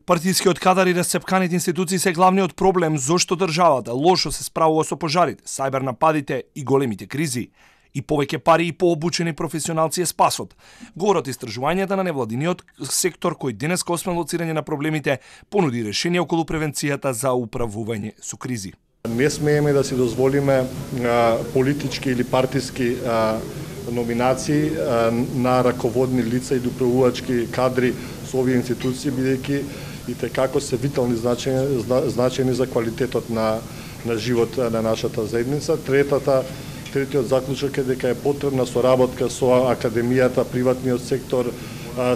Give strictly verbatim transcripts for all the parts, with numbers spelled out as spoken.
Партискиот кадар и расцепканите институции се главниот проблем зошто државата лошо се справува со пожарите, сајбер нападите и големите кризи. И повеќе пари и пообучени професионалци е спасот. Говорат истражувањата на невладиниот сектор кој денес освен лоцирање на проблемите понуди решение околу превенцијата за управување со кризи. Не смееме да си дозволиме а, политички или партиски а, номинации а, на раководни лица и управувачки кадри со овие институции, бидејќи и текако се витални значени, значени за квалитетот на, на живот на нашата заедница. Третата Третиот заклучок е дека е потребна соработка со академијата, приватниот сектор,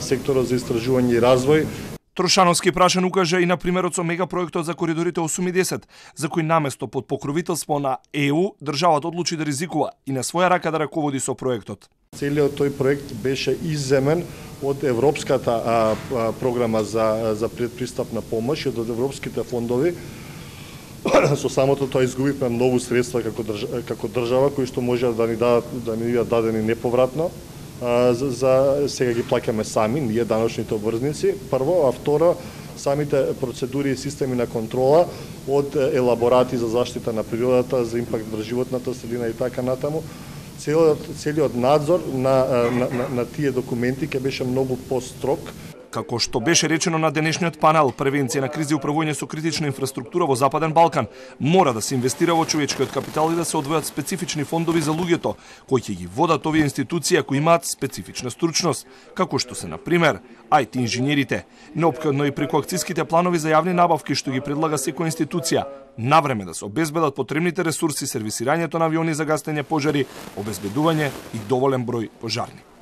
секторот за истражување и развој. Трошановски прашан укажа и на примерот со мегапроектот за коридорите осум и десет, за кој наместо под покровителство на Е У, државата одлучи да ризикува и на своја рака да раководи со проектот. Целиот тој проект беше изземен од Европската а, а, програма за, за предпристапна помош и од европските фондови. Со самото тоа изгубивме многу средства како држава, како држава кои што може да ни дадат да ни бидат дадени неповратно. А, за, за сега ги плаќаме сами, ние даночните обврзници. Прво, а второ, самите процедури и системи на контрола од елаборати за заштита на природата, за импакт врз животната средина и така натаму. Целиот целиот надзор на на, на, на тие документи ќе беше многу построг. Како што беше речено на денешниот панел, превенција на кризи и управување со критична инфраструктура во Западен Балкан, мора да се инвестира во човечкиот капитал и да се одвојат специфични фондови за луѓето, кои ќе ги водат овие институции кои имаат специфична стручност, како што се, на пример, ај ти инженерите. Неопходно и преку акциските планови за јавни набавки што ги предлага секоја институција, навреме да се обезбедат потребните ресурси, сервисирањето на авиони за гасење пожари, обезбедување и доволен број пожарни.